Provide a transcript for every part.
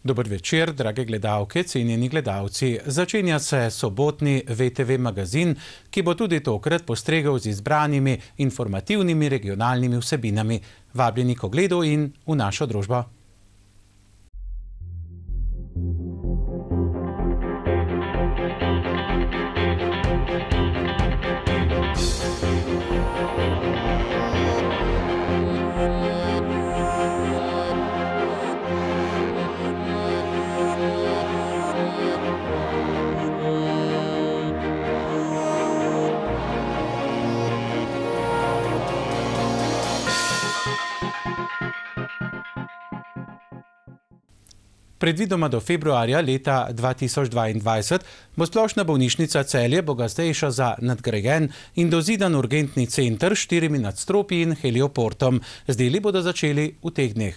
Dober večer, drage gledalke, cenjeni gledalci. Začenja se sobotni VTV magazin, ki bo tudi tokrat postregel z izbranimi informativnimi regionalnimi vsebinami. Vabljeni k ogledu in v našo družbo. Predvidoma do februarja leta 2022 bo splošna bolnišnica Celje bogatejša za nadgrajen in dozidan urgentni center s 4 nadstropji in helioportom. Z deli bodo začeli v teh dneh.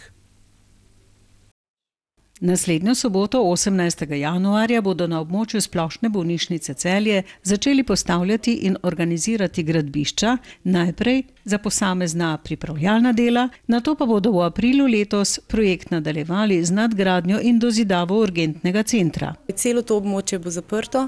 Naslednjo soboto, 18. januarja, bodo na območju splošne bolnišnice Celje začeli postavljati in organizirati gradbišča, najprej za posamezna pripravljalna dela, nato pa bodo v aprilu letos projekt nadaljevali z nadgradnjo in dozidavo urgentnega centra. Celo to območje bo zaprto,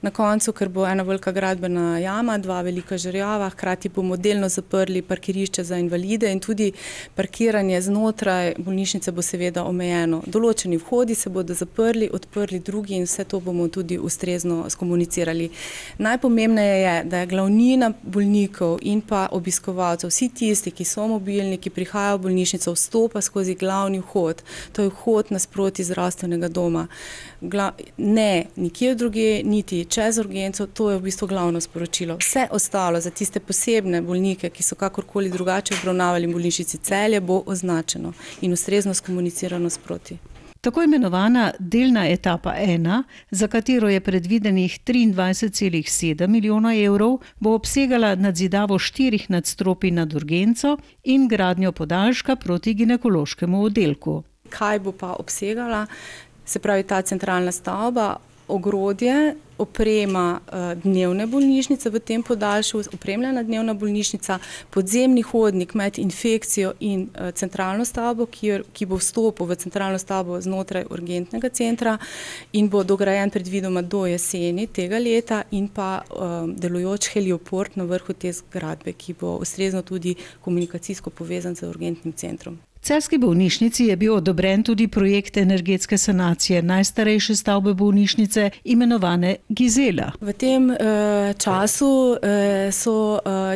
na koncu, ker bo ena velika gradbena jama, 2 velika žerjava, hkrati bomo delno zaprli parkirišče za invalide in tudi parkiranje znotraj bolnišnice bo seveda omejeno. Določeni vhodi se bodo zaprli, odprli drugi in vse to bomo tudi ustrezno skomunicirali. Najpomembneje je, da je glavnina bolnikov in pa obiskovalcev, vsi tisti, ki so mobilni, ki prihajajo v bolnišnico, vstopa skozi glavni vhod. To je vhod nasproti zdravstvenega doma. Ne nikjer drugje, niti čez urgenco, to je v bistvu glavno sporočilo. Vse ostalo za tiste posebne bolnike, ki so kakorkoli drugače obravnavali v bolnišnici Celje, bo označeno in ustrezno skomunicirano sproti. Tako imenovana delna etapa 1, za katero je predvidenih 23,7 milijona evrov, bo obsegala nadzidavo 4 nadstropij nad urgenco in gradnjo podaljška proti ginekološkemu oddelku. Kaj bo pa obsegala? Se pravi, ta centralna stavba, ogrodje, oprema dnevne bolnišnice v tem podaljšku, opremljena dnevna bolnišnica, podzemni hodnik med infekcijo in centralno stavbo, ki bo vstopil v centralno stavbo znotraj urgentnega centra in bo dograjen predvidoma do jeseni tega leta in pa delujoč helioport na vrhu te zgradbe, ki bo ustrezno tudi komunikacijsko povezan z urgentnim centrom. V celjski bolnišnici je bil odobren tudi projekt energetske sanacije najstarejše stavbe bolnišnice, imenovane Gizela. V tem času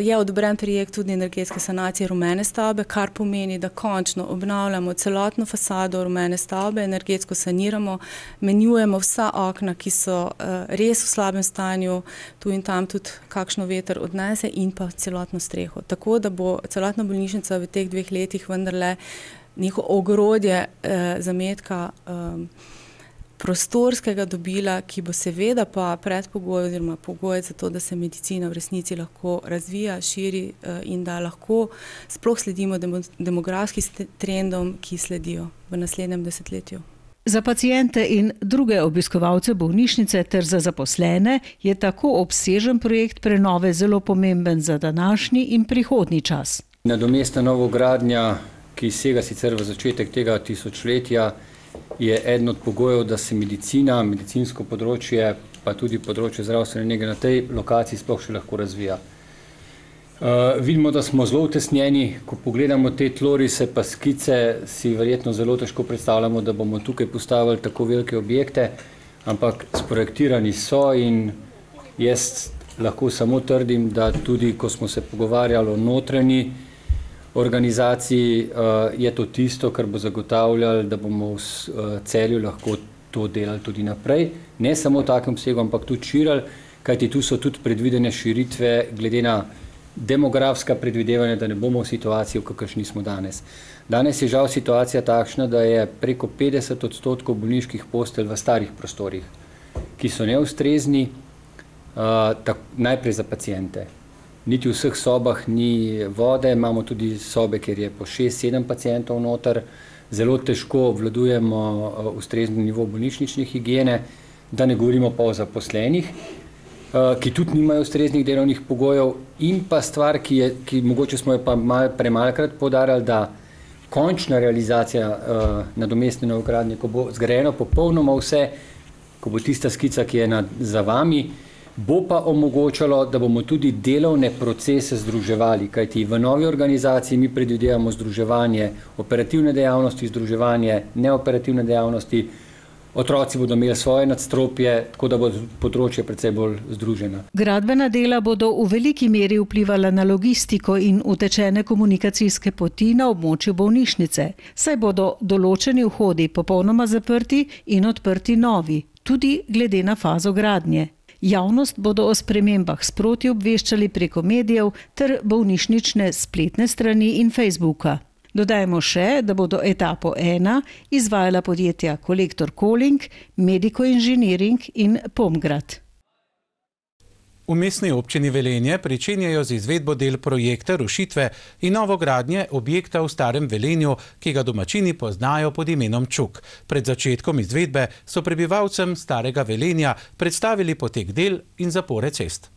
je odobren projekt tudi energetske sanacije rumene stavbe, kar pomeni, da končno obnavljamo celotno fasado rumene stavbe, energetsko saniramo, menjujemo vsa okna, ki so res v slabem stanju, tu in tam tudi kakšno veter odnese in pa celotno streho. Tako da bo celotna bolnišnica v teh 2 letih vendarle neko ogrodje zametka prostorskega dobila, ki bo seveda pa predpogoj oziroma pogoj za to, da se medicina v resnici lahko razvija, širi in da lahko sploh sledimo demografskim trendom, ki sledijo v naslednjem desetletju. Za paciente in druge obiskovalce bolnišnice ter za zaposlene je tako obsežen projekt prenove zelo pomemben za današnji in prihodnji čas. Nadomestna novogradnja, ki sega sicer v začetek tega tisočletja, je eden od pogojev, da se medicina, medicinsko področje, pa tudi področje zdravstvene nege na tej lokaciji sploh še lahko razvija. Vidimo, da smo zelo utesnjeni, ko pogledamo te tlorise pa skice, si verjetno zelo težko predstavljamo, da bomo tukaj postavili tako velike objekte, ampak sprojektirani so in jaz lahko samo trdim, da tudi, ko smo se pogovarjali o notranji organizaciji, je to tisto, kar bo zagotavljalo, da bomo v Celju lahko to delali tudi naprej. Ne samo v takem obsegu, ampak tudi širili, kajti tu so tudi predvidene širitve glede na demografska predvidevanja, da ne bomo v situaciji, v kakršni smo danes. Danes je žal situacija takšna, da je preko 50% bolniških postelj v starih prostorih, ki so neustrezni, najprej za paciente. Niti v vseh sobah ni vode, imamo tudi sobe, kjer je po 6-7 pacientov noter, zelo težko obvladujemo ustrezni nivo bolnišnične higiene, da ne govorimo pa o zaposlenih, ki tudi nimajo ustreznih delovnih pogojev in pa stvar, ki mogoče smo jo pa premalokrat poudarjali, da končna realizacija nadomestne novogradnje, ko bo zgrajeno popolnoma vse, ko bo tista skica, ki je za vami, bo pa omogočalo, da bomo tudi delovne procese združevali, kajti v novi organizaciji mi predvidevamo združevanje operativne dejavnosti, združevanje neoperativne dejavnosti. Otroci bodo imeli svoje nadstropje, tako da bo področje precej bolj združeno. Gradbena dela bodo v veliki meri vplivala na logistiko in utečene komunikacijske poti na območju bolnišnice, saj bodo določeni vhodi popolnoma zaprti in odprti novi, tudi glede na fazo gradnje. Javnost bodo o spremembah sproti obveščali preko medijev ter bolnišnične spletne strani in Facebooka. Dodajmo še, da bodo etapo 1 izvajala podjetja Kolektor Koling, Medico Engineering in Pomgrad. V mestni občini Velenje pričenjajo z izvedbo del projekta rušitve in novogradnje objekta v Starem Velenju, ki ga domačini poznajo pod imenom Čuk. Pred začetkom izvedbe so prebivalcem Starega Velenja predstavili potek del in zapore cest.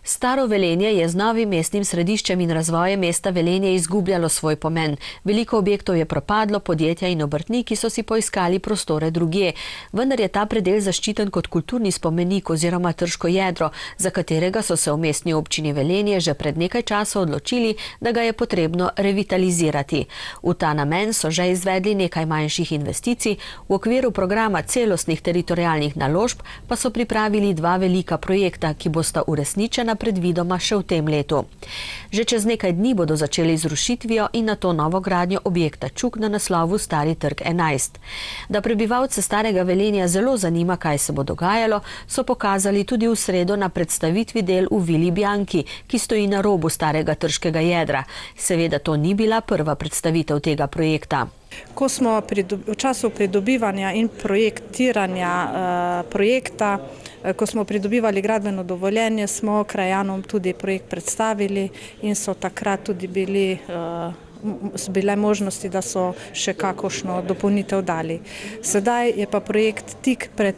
Staro Velenje je z novim mestnim središčem in razvojem mesta Velenje izgubljalo svoj pomen. Veliko objektov je propadlo, podjetja in obrtniki so si poiskali prostore drugje. Vendar je ta predel zaščiten kot kulturni spomenik oziroma trško jedro, za katerega so se v mestni občini Velenje že pred nekaj časa odločili, da ga je potrebno revitalizirati. V ta namen so že izvedli nekaj manjših investicij, v okviru programa celostnih teritorialnih naložb pa so pripravili 2 velika projekta, ki bosta uresničena predvidoma še v tem letu. Že čez nekaj dni bodo začeli z rušitvijo in nato novogradnjo objekta Čuk na naslovu Stari trg 11. Da prebivalce Starega Velenja zelo zanima, kaj se bo dogajalo, so pokazali tudi v sredo na predstavitvi del v Vili Bianchi, ki stoji na robu starega trškega jedra. Seveda to ni bila prva predstavitev tega projekta. Ko smo v času pridobivanja in projektiranja projekta, ko smo pridobivali gradbeno dovoljenje, smo krajanom tudi projekt predstavili in so takrat tudi bile možnosti, da so še kakošno dopolnitev dali. Sedaj je pa projekt tik pred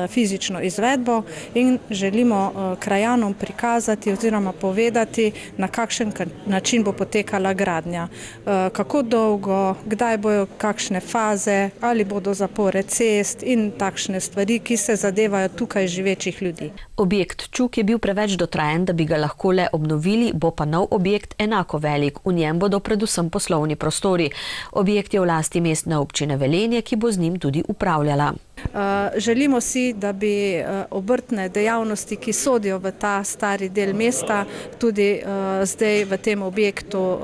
fizično izvedbo in želimo krajanom prikazati oziroma povedati, na kakšen način bo potekala gradnja. Kako dolgo, kdaj bojo kakšne faze, ali bodo zapore cest in takšne stvari, ki se zadevajo tukaj živečih ljudi. Objekt Čuk je bil preveč dotrajen, da bi ga lahko le obnovili, bo pa nov objekt enako velik. V njem bodo predvsem poslovni prostori. Objekt je v lasti mestne občine Velenje, ki bo z njim tudi upravljala. Želimo si, da bi obrtne dejavnosti, ki sodijo v ta stari del mesta, tudi zdaj v tem objektu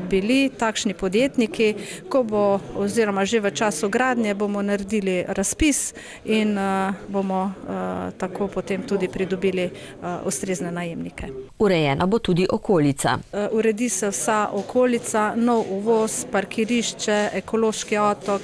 bili takšni podjetniki. Ko bo oziroma že v času gradnje bomo naredili razpis in bomo tako potem tudi pridobili ustrezne najemnike. Urejena bo tudi okolica. Uredi se vsa okolica, nov uvoz, parkirišče, ekološki otok,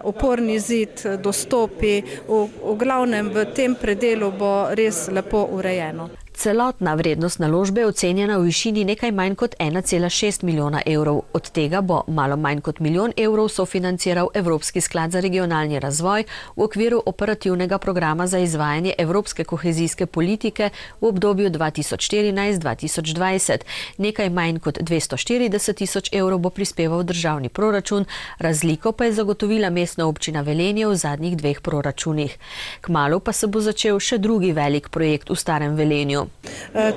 oporni zid, dostopi. V glavnem v tem predelu bo res lepo urejeno. Celotna vrednost naložbe je ocenjena v višini nekaj manj kot 1,6 milijona evrov. Od tega bo malo manj kot 1 milijon evrov sofinanciral Evropski sklad za regionalni razvoj v okviru operativnega programa za izvajanje evropske kohezijske politike v obdobju 2014-2020. Nekaj manj kot 240 tisoč evrov bo prispeval državni proračun, razliko pa je zagotovila mestna občina Velenje v zadnjih 2 proračunih. Kmalu pa se bo začel še drugi velik projekt v Starem Velenju.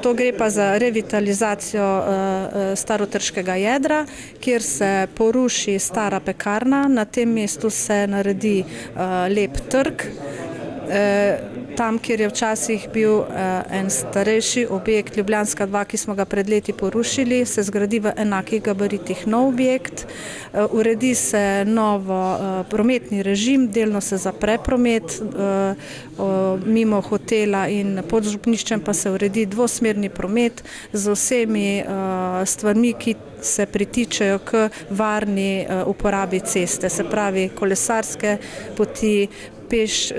To gre pa za revitalizacijo starotrškega jedra, kjer se poruši stara pekarna, na tem mestu se naredi lep trg. Tam, kjer je včasih bil en starejši objekt Ljubljanska 2, ki smo ga pred leti porušili, se zgradi v enakih gabaritih nov objekt, uredi se novo prometni režim, delno se zapre promet, mimo hotela in pod župniščem pa se uredi dvosmerni promet z vsemi stvarmi, ki se pritičejo k varni uporabi ceste, se pravi kolesarske poti, peš,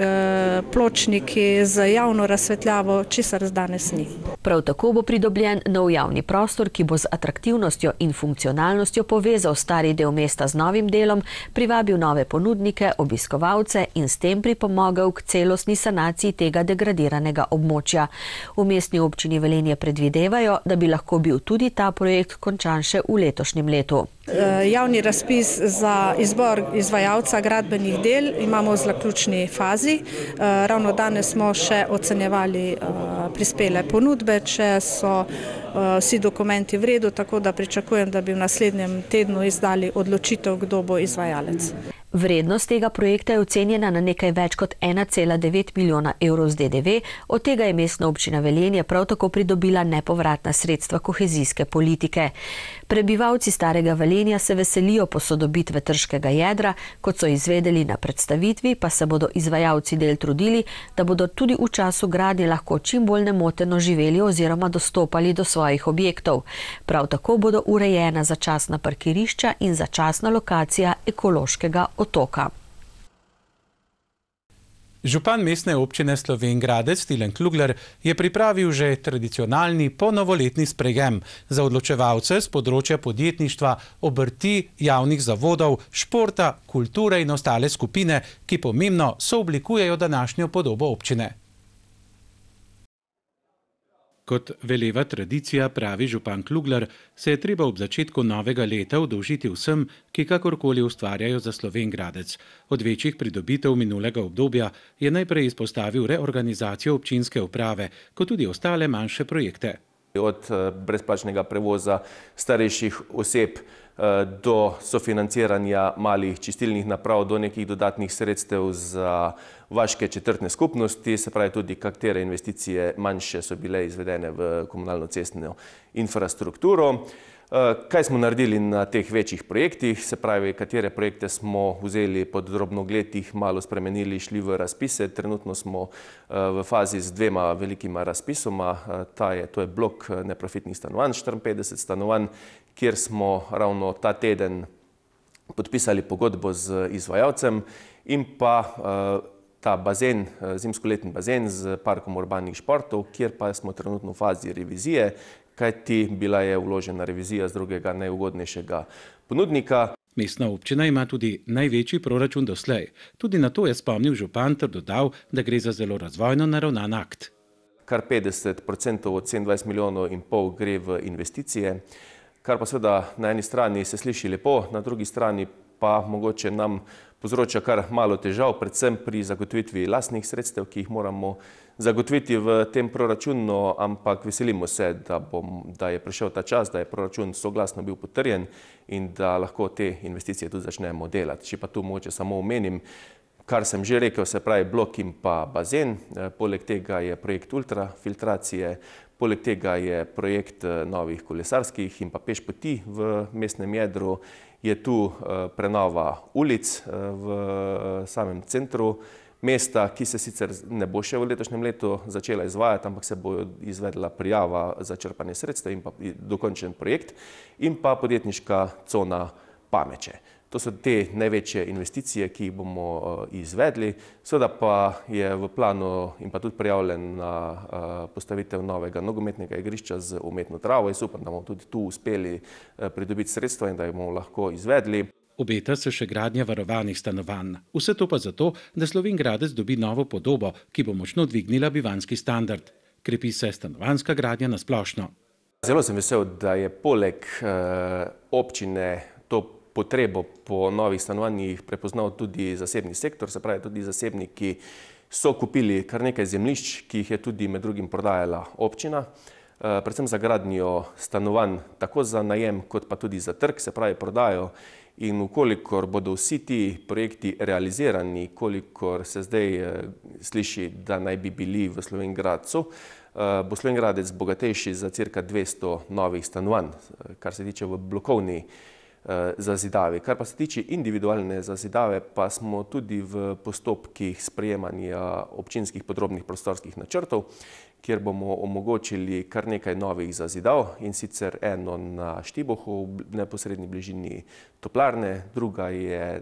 pločniki z javno razsvetljavo, česar danes ni. Prav tako bo pridobljen nov javni prostor, ki bo z atraktivnostjo in funkcionalnostjo povezal stari del mesta z novim delom, privabil nove ponudnike, obiskovalce in s tem pripomogel k celostni sanaciji tega degradiranega območja. V Mestni občini Velenje predvidevajo, da bi lahko bil tudi ta projekt končan še v letošnjem letu. Javni razpis za izbor izvajalca gradbenih del imamo v zaključni fazi. Ravno danes smo še ocenjevali prispele ponudbe, če so vsi dokumenti v redu, tako da pričakujem, da bi v naslednjem tednu izdali odločitev, kdo bo izvajalec. Vrednost tega projekta je ocenjena na nekaj več kot 1,9 milijona evrov z DDV, od tega je Mestna občina Velenje prav tako pridobila nepovratna sredstva kohezijske politike. Prebivalci Starega Velenja se veselijo posodobitve trškega jedra, kot so izvedeli na predstavitvi, pa se bodo izvajalci del trudili, da bodo tudi v času gradnje lahko čim bolj nemoteno živeli oziroma dostopali do svojih objektov. Prav tako bodo urejena začasna parkirišča in začasna lokacija ekološkega otoka. Župan Mestne občine Slovenj Gradec Tilen Klugler je pripravil že tradicionalni ponovoletni sprejem za odločevalce z področja podjetništva, obrti, javnih zavodov, športa, kulture in ostale skupine, ki pomembno sooblikujejo današnjo podobo občine. Kot veleva tradicija, pravi župan Klugler, se je treba ob začetku novega leta udolžiti vsem, ki kakorkoli ustvarjajo za Slovenj Gradec. Od večjih pridobitev minulega obdobja je najprej izpostavil reorganizacijo občinske uprave, kot tudi ostale manjše projekte. Od brezplačnega prevoza starejših oseb do sofinanciranja malih čistilnih naprav, do nekih dodatnih sredstev za vaške četrtne skupnosti, se pravi tudi katere investicije manjše so bile izvedene v komunalno-cestno infrastrukturo. Kaj smo naredili na teh večjih projektih, se pravi, katere projekte smo vzeli pod drobnogled, jih malo spremenili, šli v razpise. Trenutno smo v fazi z 2 velikima razpisoma. To je blok neprofitnih stanovanj, 54 stanovanj, kjer smo ravno ta teden podpisali pogodbo z izvajalcem in pa ta bazen, zimskoletni bazen z parkom urbanih športov, kjer pa smo trenutno v fazi revizije, kajti bila je vložena revizija z drugega najugodnejšega ponudnika. Mestna občina ima tudi največji proračun doslej. Tudi na to je spomnil župan ter dodal, da gre za zelo razvojno naravnan akt. Kar 50% od 27,5 milijonov gre v investicije, kar pa seveda na eni strani se sliši lepo, na drugi strani pa mogoče nam povzroča kar malo težav, predvsem pri zagotovitvi lastnih sredstev, ki jih moramo zagotoviti v tem proračunu, ampak veselimo se, da je prišel ta čas, da je proračun soglasno bil potrjen in da lahko te investicije tudi začnemo delati. Če pa tu mogoče samo omenim, kar sem že rekel, se pravi blok in pa bazen, poleg tega je projekt ultrafiltracije, poleg tega je projekt novih kolesarskih in pa pešpoti v mestnem jedru, je tu prenova ulic v samem centru mesta, ki se sicer ne bo še v letošnjem letu začela izvajati, ampak se bo izvedla prijava za črpanje sredstev in pa dokončen projekt in pa podjetniška cona Pameče. To so te največje investicije, ki jih bomo izvedli. Seveda pa je v planu in pa tudi prijavljena postavitev novega nogometnega igrišča z umetno travo. Jaz upam, da bomo tudi tu uspeli pridobiti sredstva in da jih bomo lahko izvedli. Obeta se še gradnja varovanih stanovanj. Vse to pa zato, da Slovenj Gradec dobi novo podobo, ki bo močno dvignila bivanjski standard. Krepi se stanovanjska gradnja na splošno. Zelo sem vesel, da je poleg občine to potrebo po novih stanovanjih prepoznal tudi zasebni sektor, se pravi tudi zasebniki so kupili kar nekaj zemljišč, ki jih je tudi med drugim prodajala občina, predvsem za gradnjo stanovanj, tako za najem kot pa tudi za trg, se pravi prodajo. In ukolikor bodo vsi ti projekti realizirani, kolikor se zdaj sliši, da naj bi bili v Slovenj Gradcu, bo Slovenj Gradec bogatejši za cirka 200 novih stanovanj. Kar se tiče v blokovni zazidave. Kar pa se tiče individualne zazidave, pa smo tudi v postopkih sprejemanja občinskih podrobnih prostorskih načrtov, kjer bomo omogočili kar nekaj novih zazidav, in sicer eno na Štibohu, v neposredni bližini toplarne, druga je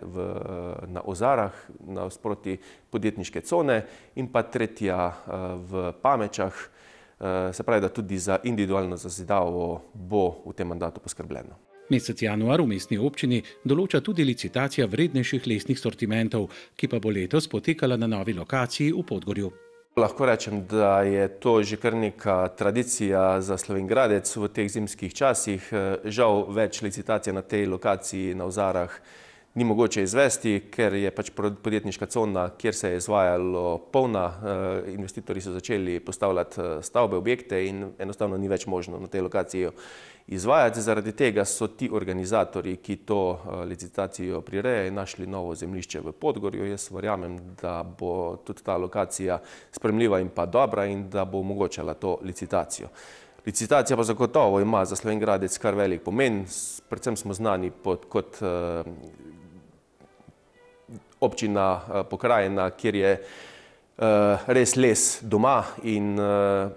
na Ozarah, nasproti podjetniške cone, in pa tretja v Pamečah. Se pravi, da tudi za individualno zazidavo bo v tem mandatu poskrbljeno. Mesec januar v mestni občini določa tudi licitacija vrednejših lesnih sortimentov, ki pa bo letos potekala na novi lokaciji v Podgorju. Lahko rečem, da je to že kar neka tradicija za Slovenj Gradec v teh zimskih časih. Žal več licitacije na tej lokaciji na Ozarah ni mogoče izvesti, ker je pač podjetniška cona, kjer se je izvajalo polna. Investitorji so začeli postavljati stavbe, objekte in enostavno ni več možno na tej lokaciji izvajati. Zaradi tega so ti organizatorji, ki to licitacijo prirejajo, našli novo zemljišče v Podgorju. Jaz verjamem, da bo tudi ta lokacija sprejemljiva in pa dobra in da bo omogočala to licitacijo. Licitacija pa zagotovo ima za Slovenj Gradec kar velik pomen. Predvsem smo znani kot občina, pokrajina, kjer je res les doma, in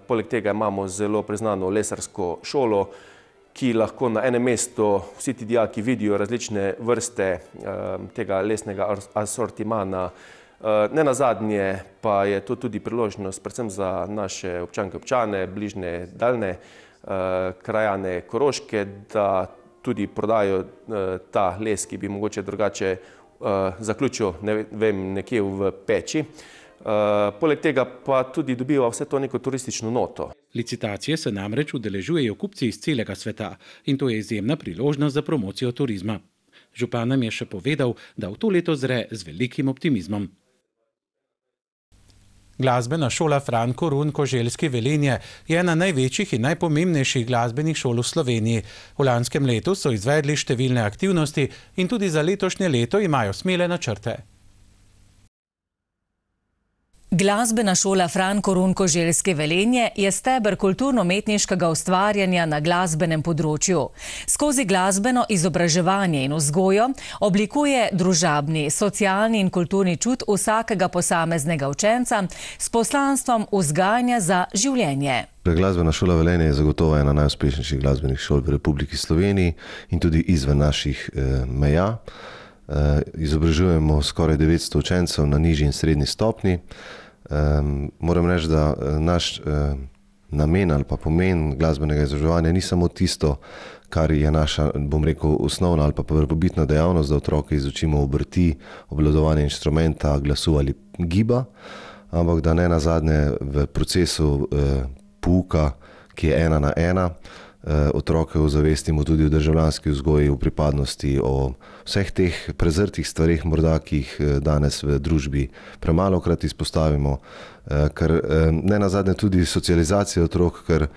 poleg tega imamo zelo priznano lesarsko šolo, ki lahko na enem mestu vsi ti dijaki vidijo različne vrste tega lesnega asortimana. Nenazadnje pa je to tudi priložnost predvsem za naše občanke, občane, bližnje, daljne krajane Koroške, da tudi prodajo ta les, ki bi mogoče drugače zaključil, ne vem, nekje v peči. Poleg tega pa tudi dobiva vse to neko turistično noto. Licitacije se namreč udeležujejo kupci iz celega sveta in to je izjemna priložnost za promocijo turizma. Župan nam je še povedal, da v to leto zre z velikim optimizmom. Glasbena šola Fran Korun Koželjske Velenje je ena največjih in najpomembnejših glasbenih šol v Sloveniji. V lanskem letu so izvedli številne aktivnosti in tudi za letošnje leto imajo smele načrte. Glasbena šola Fran Korun Koželjske Velenje je steber kulturno-umetniškega ustvarjanja na glasbenem področju. Skozi glasbeno izobraževanje in vzgojo oblikuje družabni, socialni in kulturni čut vsakega posameznega učenca s poslanstvom vzgajanja za življenje. Glasbena šola Velenje je zagotovo ena najuspešnejših glasbenih šol v Republiki Sloveniji in tudi izven naših meja. Izobražujemo skoraj 900 učencev na nižji in srednji stopnji. Moram reči, da naš namen ali pa pomen glasbenega izobraževanja ni samo tisto, kar je naša, bom rekel, osnovna ali pa prvobitna dejavnost, da otroke izučimo obrti, obvladovanje inštrumenta, glasu ali giba, ampak da ne nazadnje v procesu pouka, ki je 1 na 1, otroke ozavestimo tudi o državljanski vzgoji, o pripadnosti, o vseh teh prezrtih stvareh, morda, ki jih danes v družbi premalokrat izpostavimo, ker ne nazadnje tudi socializacija otrok, ker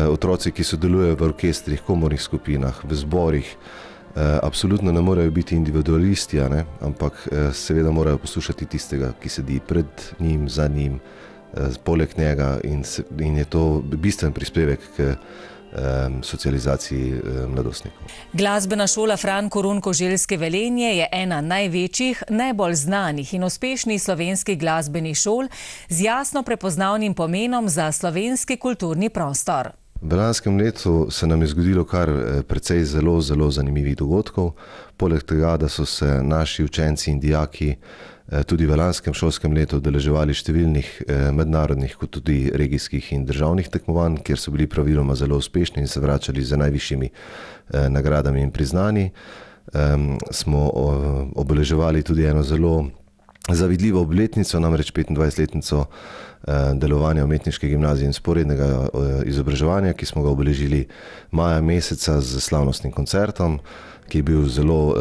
otroci, ki sodelujejo v orkestrih, komornih skupinah, v zborih, absolutno ne morejo biti individualisti, ampak seveda morajo poslušati tistega, ki sedi pred njim, za njim, poleg njega, in je to bistven prispevek k socializaciji mladostnikov. Glasbena šola Fran Korun Koželjske Velenje je ena največjih, najbolj znanih in uspešnih slovenskih glasbenih šol z jasno prepoznavnim pomenom za slovenski kulturni prostor. V lanskem letu se nam je zgodilo kar precej zelo zanimivih dogodkov. Poleg tega, da so se naši učenci in dijaki tudi v lanskem šolskem letu udeleževali številnih mednarodnih kot tudi regijskih in državnih tekmovanj, kjer so bili praviloma zelo uspešni in se vračali z najvišjimi nagradami in priznanji, smo obeleževali tudi eno zelo zavidljivo obletnico, namreč 25-letnico delovanja umetniške gimnazije in sporednega izobraževanja, ki smo ga obeležili maja meseca z slavnostnim koncertom, ki je bil zelo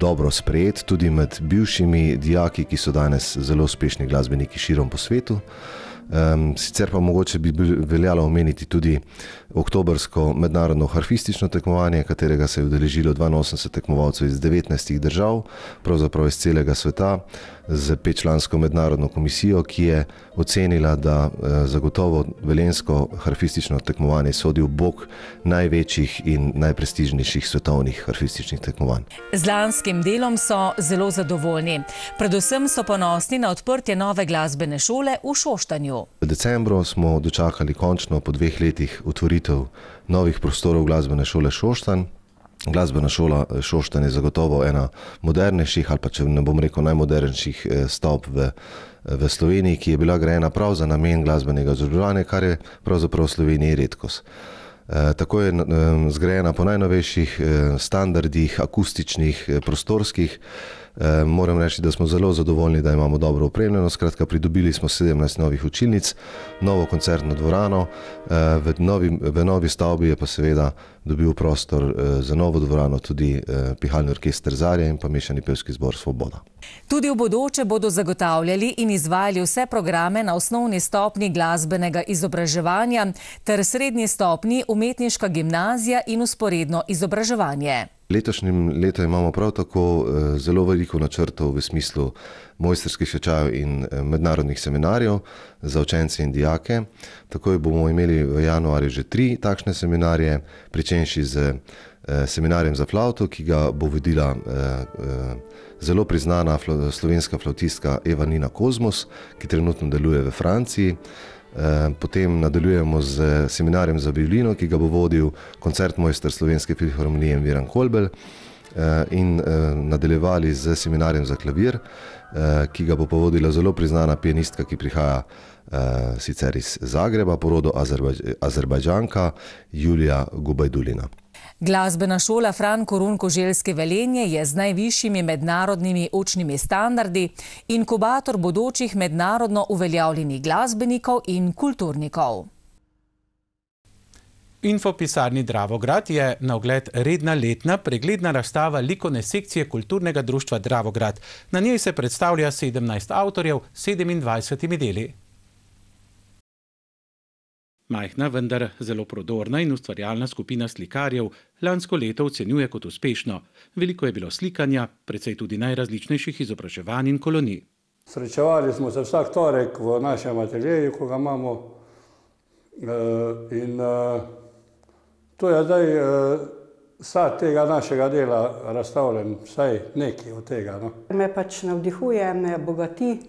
dobro sprejet tudi med bivšimi dijaki, ki so danes zelo uspešni glasbeniki širom po svetu. Sicer pa mogoče bi veljalo omeniti tudi oktobrsko mednarodno harfistično tekmovanje, katerega se je udeležilo 82 tekmovalcev iz 19 držav, pravzaprav iz celega sveta, z 5-člansko mednarodno komisijo, ki je ocenila, da zagotovo velenjsko harfistično tekmovanje sodi v bok največjih in najprestižnejših svetovnih harfističnih tekmovanj. Z lanskim delom so zelo zadovoljni. Predvsem so ponosni na odprtje nove glasbene šole v Šoštanju. V decembru smo dočakali končno po 2 letih otvoritev novih prostorov glasbene šole Šoštanj. Glasbena šola Šoštanj je zagotovo ena modernejših, ali pa če ne bom rekel najmodernejših stavb v Sloveniji, ki je bila grajena prav za namen glasbenega izobraževanja, kar je pravzaprav v Sloveniji redkost. Tako je zgrajena po najnovejših standardih, akustičnih, prostorskih. Moram reči, da smo zelo zadovoljni, da imamo dobro opremljeno. Skratka, pridobili smo 17 novih učilnic, novo koncertno dvorano, v novi stavbi je pa seveda dobil prostor za novo dvorano tudi pihalni orkester Zarja in pa mešani pevski zbor Svoboda. Tudi v bodoče bodo zagotavljali in izvajali vse programe na osnovni stopnji glasbenega izobraževanja ter srednji stopnji umetniška gimnazija in vzporedno izobraževanje. Letošnjem letu imamo prav tako zelo veliko načrtov v smislu mojstrskih tečajev in mednarodnih seminarjev za učence in dijake. Takoj bomo imeli v januarju že 3 takšne seminarje, pričenši z seminarjem za flavto, ki ga bo vodila zelo priznana slovenska flavtistka Eva Nina Kozmos, ki trenutno deluje v Franciji. Potem nadaljujemo z seminarjem za violino, ki ga bo vodil koncertmojster Slovenske filharmonije Miran Kolbel, in nadaljevali z seminarjem za klavir, ki ga bo vodila zelo priznana pianistka, ki prihaja sicer iz Zagreba, po rodu Azerbajdžanka, Julija Gubajdulina. Glasbena šola Fran Korun Koželjske Velenje je z najvišjimi mednarodnimi učnimi standardi inkubator bodočih mednarodno uveljavljenih glasbenikov in kulturnikov. Infopisarni Dravograd je na ogled redna letna pregledna razstava likovne sekcije Kulturnega društva Dravograd. Na njej se predstavlja 17 avtorjev s 27 deli. Majhna, vendar zelo prodorna in ustvarjalna skupina slikarjev lansko leto ocenjuje kot uspešno. Veliko je bilo slikanja, precej tudi najrazličnejših izobraževanj in kolonij. Srečevali smo se vsak torek v našem ateljeju, ko ga imamo, in to je zdaj sad tega našega dela razstavljen, vsaj nekaj od tega. Me pač navdihuje, me bogati.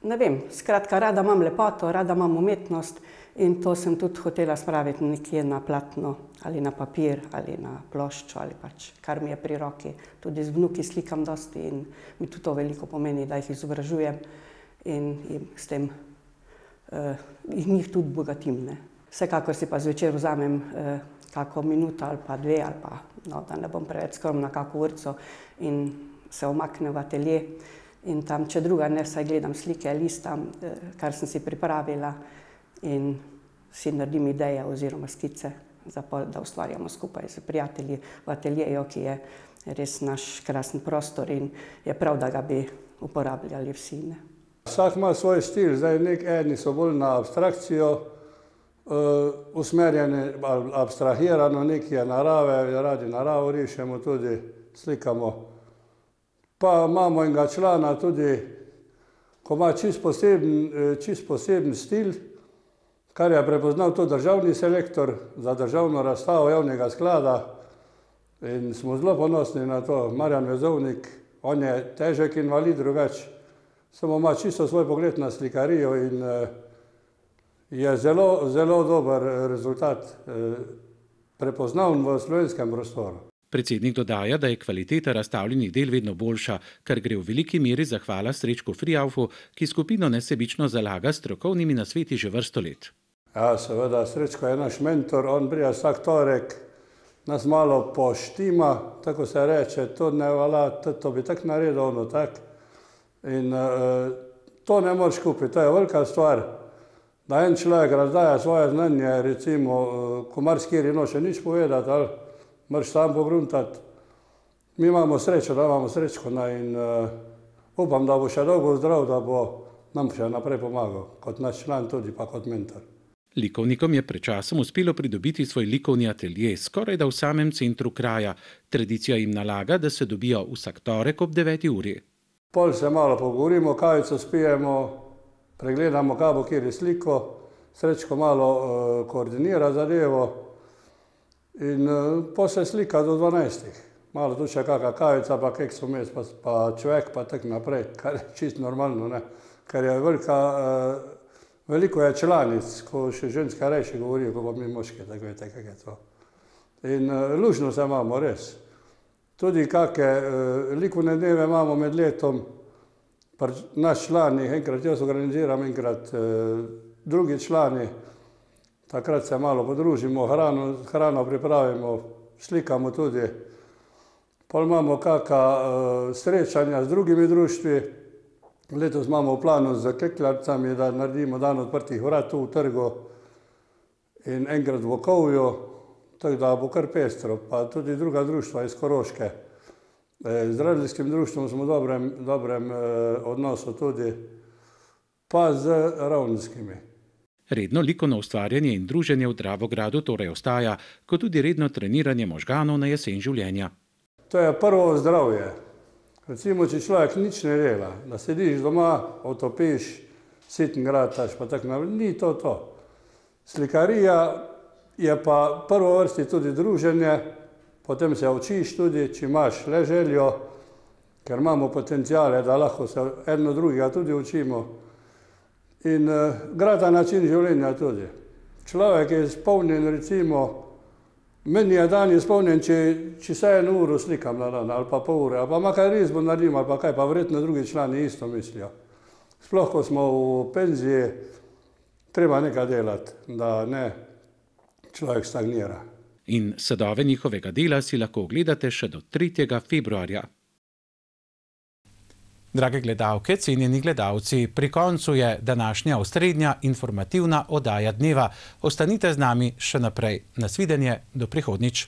Ne vem, skratka, rada imam lepoto, rada imam umetnost in to sem tudi hotela spraviti nekje na platno ali na papir ali na ploščo ali pač, kar mi je pri roki. Tudi z vnuki slikam dosti in mi tudi to veliko pomeni, da jih izobražujem in s tem njih tudi bogatim. Vsekakor si pa zvečer vzamem kako minuto ali pa 2 ali pa, da ne bom preveč skromna, kako urco in se omaknem v atelje. In tam, če druga ne, vsaj gledam slike, listam, kar sem si pripravila in si naredim ideje oziroma skice, da ustvarjamo skupaj s prijatelji v ateljeju, ki je res naš krasen prostor in je prav, da ga bi uporabljali vsi. Vsak ima svoj stil, zdaj eni so bolj na abstrakcijo usmerjeni, abstrahirano, nekaj je narave, radi naravo rišemo, tudi slikamo. Pa imamo enega člana tudi, ko ima čist poseben stil, kar je prepoznal to državni selektor za državno razstavo javnega sklada in smo zelo ponosni na to. Marjan Vezovnik, on je težek invalid, drugače, samo ima čisto svoj pogled na slikarijo in je zelo dober rezultat prepoznavn v slovenskem prostoru. Predsednik dodaja, da je kvaliteta razstavljenih del vedno boljša, kar gre v veliki meri zahvala Srečku Frijaufu, ki skupino nesebično zalaga s strokovnimi nasveti že vrsto let. Ja, seveda, Srečko je naš mentor, on prija vsak torek, nas malo poštima, tako se reče, to ne vala, to bi tak naredil, ono tak. In to ne moreš kupiti, to je velika stvar, da en človek razdaja svoje znanje, recimo, ko marsikateri noče nič povedati, ali moraš sam pogruntati. Mi imamo srečo, da imamo Srečko in upam, da bo še dolgo zdrav, da bo nam še naprej pomagal, kot naš član tudi, pa kot mentor. Likovnikom je pred časom uspelo pridobiti svoj likovni atelje skoraj da v samem centru kraja. Tradicija jim nalaga, da se dobijo vsak torek ob 9. uri. Pol se malo pogovorimo, kavico spijemo, pregledamo, kaj bo kjer je sliko, Srečko malo koordinira zadevo in po se slika do 12. Malo tu še kakva kavica, pa keks vmes, pa človek, pa tak naprej, kar je čisto normalno, ne? Ker je veliko je članic, ko še ženska reči govorijo, ko pa mi moški, tako vete, kak je to. In lužno se imamo, res. Tudi kakve likovne dneve imamo med letom, naš člani, enkrat jaz organiziram, enkrat drugi člani, takrat se malo podružimo, hrano pripravimo, slikamo tudi. Pol imamo kakva srečanja z drugimi društvi. Letos imamo v planu z Kekljacami, da naredimo dan odprtih vrat tu v trgu in enkrat v Okovju, tako da bo kar pestro, pa tudi druga društva iz Koroške. Z Radlijskim društvom smo v dobrem odnosu tudi, pa z Ravnskimi. Redno likovno ustvarjanje in druženje v Dravogradu torej ostaja, kot tudi redno treniranje možganov na jesen življenja. To je prvo zdravje. Recimo, če človek nič ne dela, da sediš doma, otopiš, siten grataš, pa tako naprej, ni to. Slikarija je pa prvo vrsti tudi druženje, potem se učiš tudi, če imaš le željo, ker imamo potencijale, da lahko se eno drugega tudi učimo. In grada način življenja tudi. Človek je izpolnjen, recimo, meni je dan izpolnjen, če se 1 uro slikam na dan, ali pa pol ure, ali pa makar risbo naredim, ali pa kaj, pa verjetno drugi člani isto mislijo. Sploh, ko smo v penziji, treba nekaj delati, da ne človek stagnira. In sadove njihovega dela si lahko ogledate še do 3. februarja. Drage gledalke, cenjeni gledalci, pri koncu je današnja osrednja informativna oddaja dneva. Ostanite z nami še naprej. Nasvidenje, do prihodnjič.